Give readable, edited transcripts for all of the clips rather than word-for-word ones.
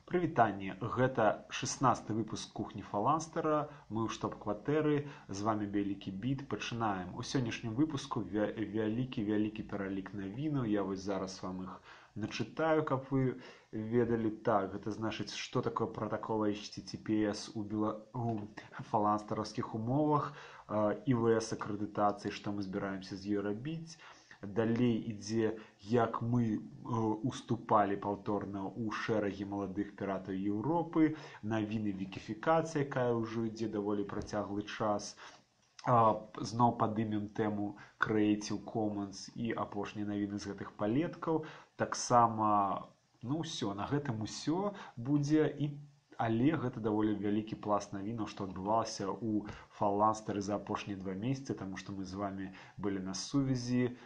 Прывітанне, гэта 16 выпуск кухні Фаланстера. Мы ў штаб-кватэры, з вами Вялікі Біт. Пачынаем. У сённяшнім выпуску вялікі пералік навінаў. Я вось зараз вам іх начытаю, каб вы ведалі. Так, гэта значыць, што такое протакол HTTPS у фаланстераўскіх умовах, ІВС акрэдытацыі, што мы збіраемся з ёй рабіць. Далей ідзе, як мы уступалі паўторна ў шэрагі маладых піратаў Еўропы, навіны вікіфікацыі, якая ўжо ідзе даволі працяглы час. Зноў падымем тэму Creative Commons і апошнія навіны з гэтых палеткаў. Таксама, ўсё, на гэтым усё будзе, але гэта даволі вялікі пласт навінаў, што адбывалася ў Фаланстеры за апошнія 2 месяцы, таму што мы з вамі былі на сувязі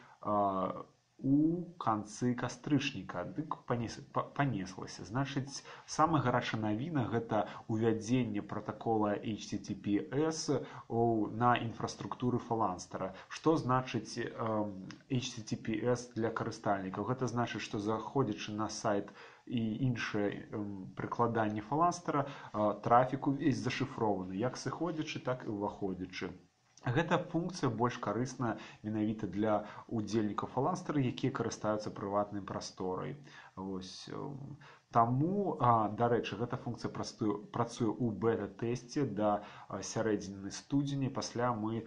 у канцы кастрычніка. Дык панеслася. Значыць, самая гарачая навіна – гэта увядзенне пратакола HTTPS на інфраструктуры Фаланстера. Што значыць HTTPS для карыстальнікаў? Гэта значыць, што заходзячы на сайт і іншыя прыкладанні Фаланстера, трафік увесь зашыфрованы, як сыходзячы, так і ўваходзячы. Гэта функцыя больш карысная менавіта для удзельнікаў Фаланстера, якія карыстаюцца прыватнай прасторай. Таму, дарэчы, гэта функцыя працуе ў бета-тэсце да сярэдзіны студзеня. Пасля мы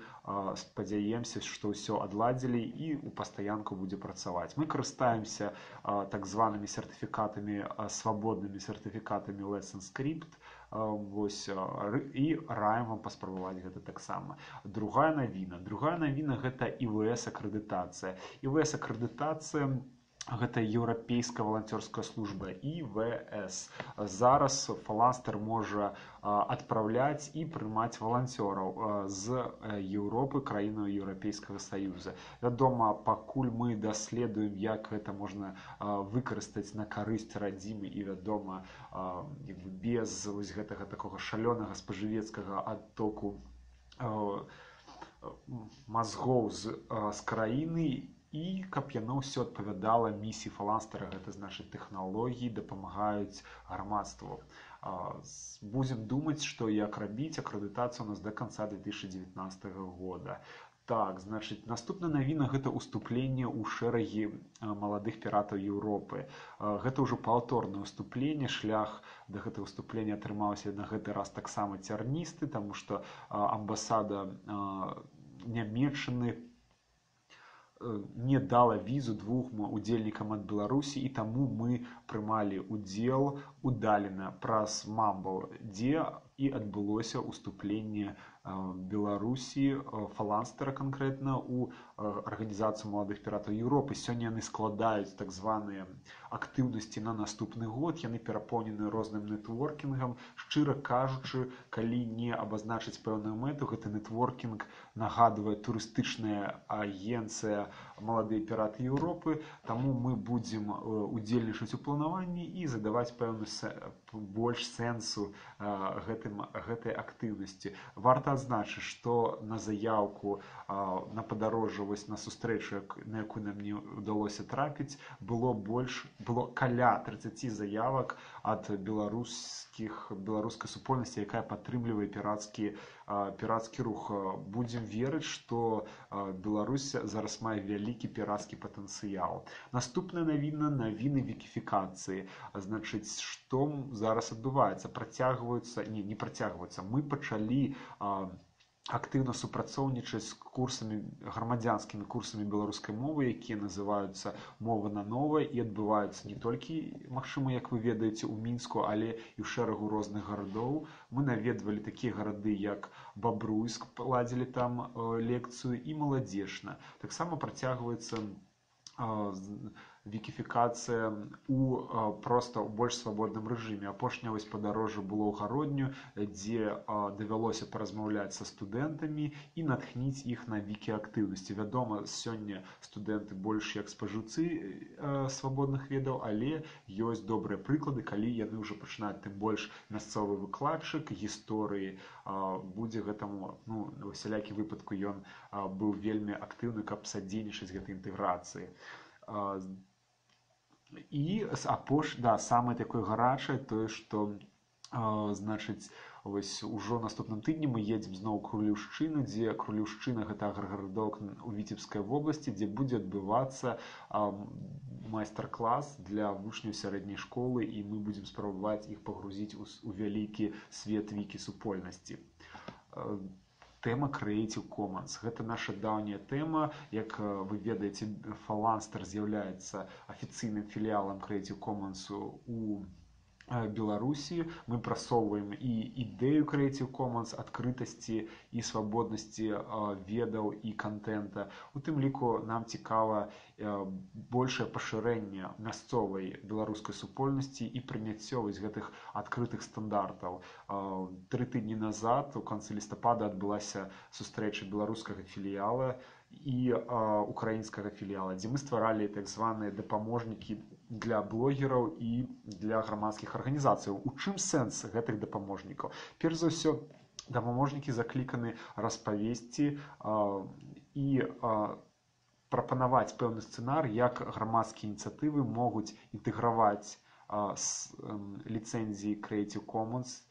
спадзяемся, што ўсё адладзілі і ў пастаянку будзе працаваць. Мы карыстаемся так званымі сертыфікатамі, свабоднымі сертыфікатамі Let's Encrypt. І раім вам паспрабаваць гэта таксама. Другая навіна гэта ІВС акрэдытацыя. ІВС акрэдытацыя гэта еўрапейская валанцёрская служба ІВС. Зараз Фаланстер можа адпраўляць і прымаць валанцёраў з Еўропы, краінаў Еўрапейскага Саюза. Вядома, пакуль мы даследуем, як гэта можна выкарыстаць на карысць радзімы і, вядома, без гэтага такога шалёнага спажывецкага адтоку мазгоў з краіны, і каб яно ўсё адпавядала місіі Фаланстера, гэта значыць тэхналогіі дапамагаюць грамадству. Будзем думаць, што як рабіць акрэдытацыю у нас да канца 2019 года. Так, значыць, наступная навіна – гэта ўступленне ў шэрагі маладых піратаў Еўропы. Гэта ўжо паўторнае ўступленне. Шлях да гэтага ўступлення атрымаўся на гэты раз таксама цярністы, таму што амбасада Нямецчыны не дала візу 2 удзельнікам ад Беларусі, і таму мы прымалі удзел удалена праз Мамбл, дзе і адбылося ўступленне Беларусі, Фаланстера канкрэтна, у арганізацыю маладых піратаў Еўропы. Сёння яны складаюць так званыя актыўнасці на наступны год, яны перапоўнены розным нетворкінгам. Шчыра кажучы, калі не абазначыць пэўную мэту, гэты нетворкінг нагадвае турыстычная агенцыя маладыя піраты Еўропы, таму мы будзем удзельнічаць у планаванні і задаваць пэўны больш сэнсу гэтай актыўнасці. Варта адзначыць, што на заяўку на падарожжа, на сустрэчу, на якую нам не ўдалося трапіць, было каля 30 заявак ад беларускай супольнасці, якая падтрымлівае пірацкі рух. Будзем верыць, што Беларусь зараз мае вялікі пірацкі патэнцыял. Наступная навіны вікіфікацыі. Значыць, што зараз адбываецца? Не працягваюцца. Мы пачалі актыўна супрацоўнічаць з грамадзянскімі курсамі беларускай мовы, якія называюцца «Мова на новае», і адбываюцца не толькі, магчыма, як вы ведаеце, у Мінску, але і ў шэрагу розных гарадоў. Мы наведвалі такія гарады, як Бабруйск, ладзілі там лекцыю, і Маладзечна. Таксама працягваецца вікіфікацыя проста ў больш свабодным рэжыме. Апошняе падарожжа было ў Гародню, дзе давялося паразмаўляць са студэнтамі і натхніць іх на вікіактыўнасці. Вядома, сёння студэнты больш як спажыўцы свабодных ведаў, але ёсць добрыя прыклады, калі яны ўжо пачынаюць, тым больш мясцовы выкладчык гісторыі будзе гэтаму, у усялякі выпадку ён быў вельмі актыўны, каб садзейнічаць гэтай інтэграцыі. І самае такое гарачае тое, што значыць, вось ужо наступным тыдні мы едзем зноў Крулеўшчыну, дзе Крулеўшчына гэта аграгарадок у Віцебскай вобласці, дзе будзе адбывацца майстар-клас для вучняў сярэдняй школы, і мы будзем спрабаваць іх пагрузіць у вялікі свет вікі-супольнасці. Тэма Creative Commons. Гэта наша даўняя тэма. Як вы ведаеце, Phalanster з'яўляецца афіцыйным філіялам Creative Commons у Беларусі. Мы прасоўваем і ідэю Creative Commons, адкрытасці і свабоднасці ведаў і кантэнта. У тым ліку нам цікава большае пашырэнне мясцовай беларускай супольнасці і прыняццё гэтых адкрытых стандартаў. 3 тыдні назад, у канцы лістапада, адбылася сустрэча беларускага філіяла і украінскага філіяла, дзе мы стваралі так званыя дапаможнікі для блогераў і для грамадскіх арганізацыяў. У чым сэнс гэтых дапаможнікаў? Перш за ўсё, дапаможнікі закліканы распавесці і прапанаваць пэўны сцэнар, як грамадскія ініцыятывы могуць інтэграваць ліцэнзіі Creative Commons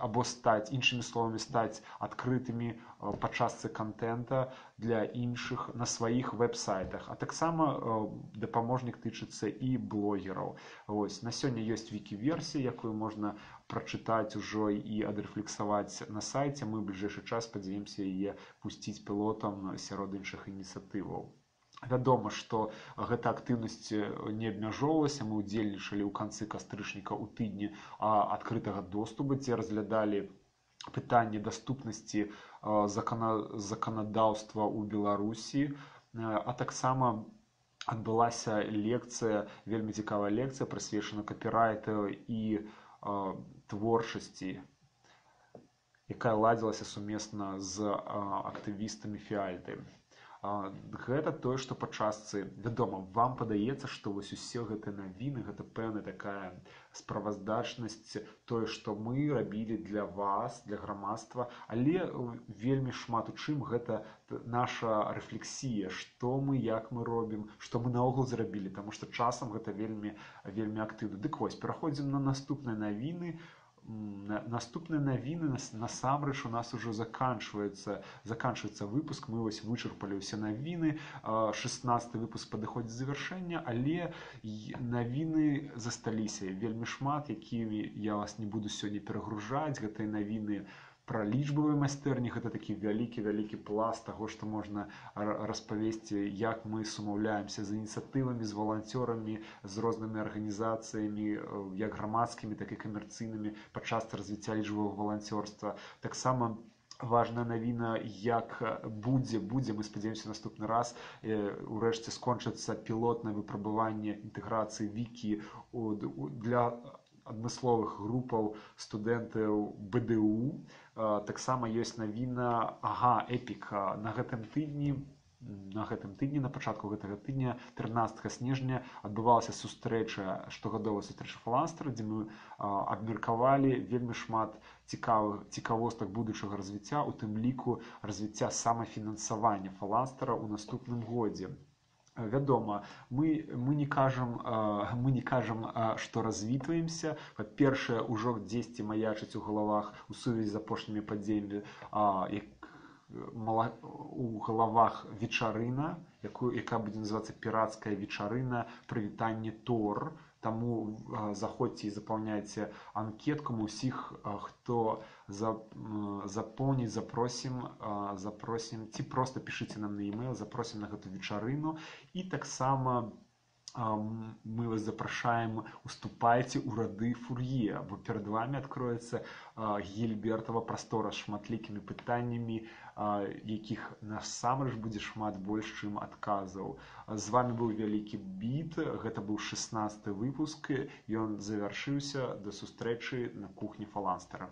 або іншымі словамі, стаць адкрытымі па частцы кантэнта для іншых на сваіх вэб-сайтах. А таксама дапаможнік тычыцца і блогераў. На сёння ёсць вікі-версія, якую можна прачытаць ужо і адрэфлексаваць на сайце. Мы ў бліжэйшы час спадзяёмся яе пусціць пілотам сярод іншых ініцыятываў. Вядома, што гэта актыўнасць не абмяжоўвалася. Мы ўдзельнічалі ў канцы кастрычніка ў тыдні адкрытага доступу, дзе разглядалі пытанне даступнасці заканадаўства ў Беларусі, а таксама адбылася лекцыя, вельмі цікавая лекцыя, прысвечана капірайту і творчасці, якая ладзілася сумесна з актывістамі Фіальты. Гэта тое, што па частцы, вядома, вам падаецца, што вось усе гэтыя навіны, гэта пэўная такая справаздачнасць, тое, што мы рабілі для вас, для грамадства, але вельмі шмат у чым гэта наша рэфлексія, што мы, як мы робім, што мы наогул зрабілі, таму што часам гэта вельмі актыўна. Дык вось, пераходзім на наступныя навіны. Наступныя навіны, насамрэч, у нас ужо заканчваецца выпуск. Мы вось вычарпалі ўсе навіны. 16-й выпуск падыходзіць да завяршэння, але навіны засталіся вельмі шмат, якімі я вас не буду сёння перагружаць. Гэтыя навіны пра лічбавыя майстэрні, гэта такі вялікі пласт таго, што можна распавесці, як мы сумаўляемся з ініцыятывамі, з валанцёрамі, з рознымі арганізацыямі, як грамадскімі, так і камерцыйнымі, падчас развіцця лічбавага валанцёрства. Таксама важная навіна, як будзе, мы спадзяёмся, наступны раз урэшце скончыцца пілотнае выпрабаванне інтэграцыі вікі для адмысловых групаў студэнтаў БДУ. Таксама ёсць навіна Эпік. На гэтым тыдні, на пачатку гэтага тыдня, 13 снежня, адбывалася сустрэча, штогадовая сустрэча Phalanster, дзе мы абмеркавалі вельмі шмат цікавостак будучага развіцця, у тым ліку развіцця самафінансавання Phalanster у наступным годзе. Вядома, мы не кажам, што развітваемся. Па-першае, ужо дзесьці маячыць у галавах у сувязі з апошнімі падзеямі у галавах вечарына, якая будзе называцца пірацкая вечарына прывітанне Тор. Таму заходзьце і запаўняйце анкетку. Мы ўсіх, хто запоўніць, запросім, ці проста пішыце нам на e-mail, запросім на гэту вечарыну. І таксама мы вас запрашаем, уступайце ў рады Фур'е, бо перад вами адкроецца Гільбертава прастора з шматлікімі пытаннямі, якіх насамрэч будзе шмат больш, чым адказаў. З вами быў вялікі біт, гэта быў 16-й выпуск, ён завяршыўся. Да сустрэчы на кухні Phalanster.